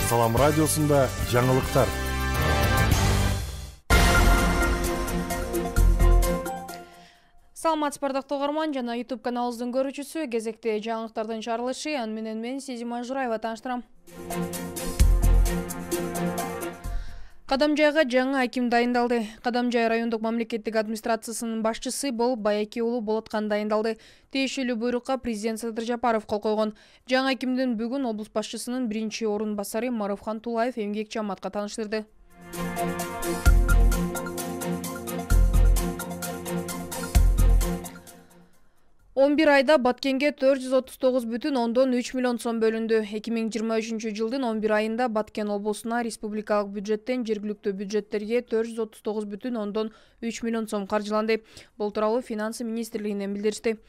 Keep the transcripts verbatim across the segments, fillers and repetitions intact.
Салам радиосунда жаңылыктар. Саламатсызбы бардыктуу угарман жана YouTube каналыбыздын көрүүчүсү. Кезекте жаңылыктардын чыгарылышы аны менен мен Сезим Ажураева тааныштырам. Кадамжайга жаңы аким дайындалды. Кадамжай райондук мамлекеттик администрациясынын башчысы болуп Баяки уулу Болоткан дайындалды. Тиешелүү буйрукка президент Садыр Жапаров кол койгон. Жаңы акимдин бүгүн облус башчысынын биринчи орун басары Марыфхан Тулаев эмгек жамаатка тааныштырды. он бир айда Баткенге төрт жүз отуз тогуз бүтүн ондон үч миллион сом бөлүндү. эки миң жыйырма үчүнчү жылдын он бир айында Баткен облусуна республикалык бюджеттен жергиликтүү бюджеттерге төрт жүз отуз тогуз бүтүн ондон үч миллион сом каржыланды. Бул тууралуу Финансы министрлигинен билдиришти.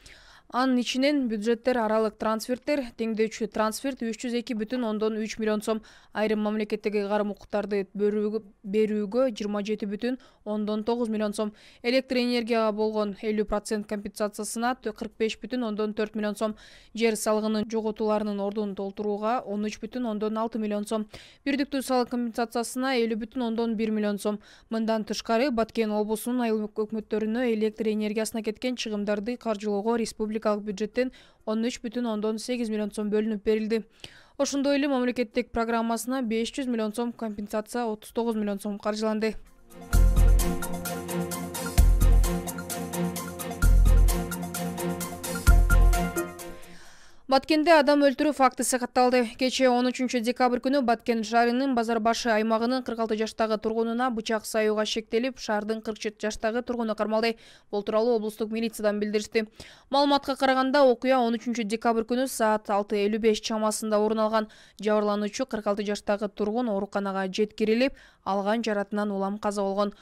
Анын ичинен бюджеттер аралык трансферттер, теңдөөчү трансферт үч жүз эки бүтүн ондон үч миллион сом, айрым мамлекеттик ыйгарым укуктарды берүүгө жыйырма жети бүтүн ондон тогуз миллион сом, электр энергияга болгон элүү процент компенсациясына кырк беш бүтүн ондон төрт миллион сом, жер салыгынын жоготууларынын ордун толтурууга он үч бүтүн ондон алты миллион сом, бирдиктүү салык компенсациясына элүү бүтүн ондон бир миллион сом. Мындан тышкары Баткен облусунун айыл өкмөттөрүнө электр энергиясына кеткен чыгымдарды каржылоого республика бюджеттен он үч бүтүн ондон сегиз миллион сом бөлүнүп берилди. Ошондой эле мамлекеттик программасына беш жүз миллион сом компенсация, отуз тогуз миллион сом каржыланды. Баткенде адам өлтүрүү фактысы катталды. Кечээ он үчүнчү декабрь күнү Баткен шаарынын Базар башы аймагынын кырк алты жаштагы тургунуна бычак саюуга шектелип, шаардын кырк жети жаштагы тургуну кармалды. Бул тууралуу облустук милициядан билдиришти. Маалыматка караганда, окуя он үчүнчү декабрь күнү саат алты элүү беш чамасында орун алган. Жабырлануучу кырк алты жаштагы тургун ооруканага жеткирилип, алган жаратынан улам каза болгон.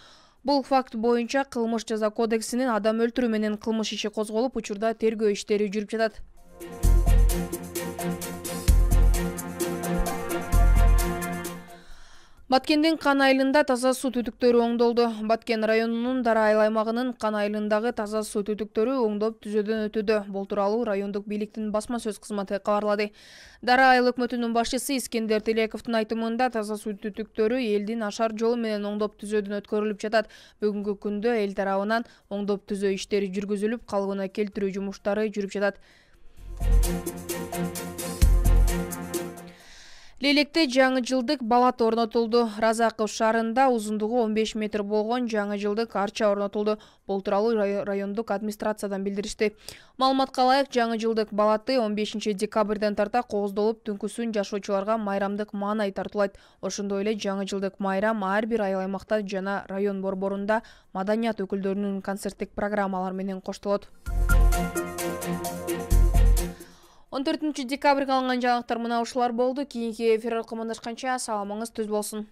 Бул факт боюнча кылмыш жаза кодексинин адам өлтүрүү менен кылмыш иши козголуп, учурда тергөө иштери жүрүп жатат. Баткендин Кан айылында таза суу түтүктөрү оңдолду. Баткен районунун Дара айыл аймагынын Кан айылындагы таза суу түтүктөрү оңдоп түзөөдөн өтүүдө. Бул тууралуу райондук бийликтин басма сөз кызматы кабарлады. Дара айыл өкмөтүнүн башчысы Искендер Телековдун айтымында таза суу түтүктөрү элдин ашар жолу менен оңдоп түзөөдөн өткөрүлүп жатат. Бүгүнкү күндө эл тарабынан оңдоп түзөө иштери жүргүзүлүп, калыбына келтирүү жумуштары жүрүп жатат. Лейлекте жаңы жылдык балат орнотулду. Разаков шаарында узундугу он беш метр болгон жаңы жылдык арча орнотулду. Бул тууралуу райондук администрациядан билдиришти. Маалыматка ылайык, жаңы жылдык балаты он бешинчи декабрдан тарта кооздолуп, түнкүсүн жашоочуларга майрамдык маанай тартуулайт. Ошондой эле жаңы жылдык майрам ар бир айыл аймакта жана район борборунда маданият өкүлдөрүнүн концерттик программалар менен коштолот. он төртүнчү декабрга алынган жаңылыктар мына ушулар болду. Кийинки эфир аркылуу амандашканча саламыңыз түз болсун.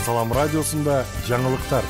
Салам радиосунда жаңылыктар.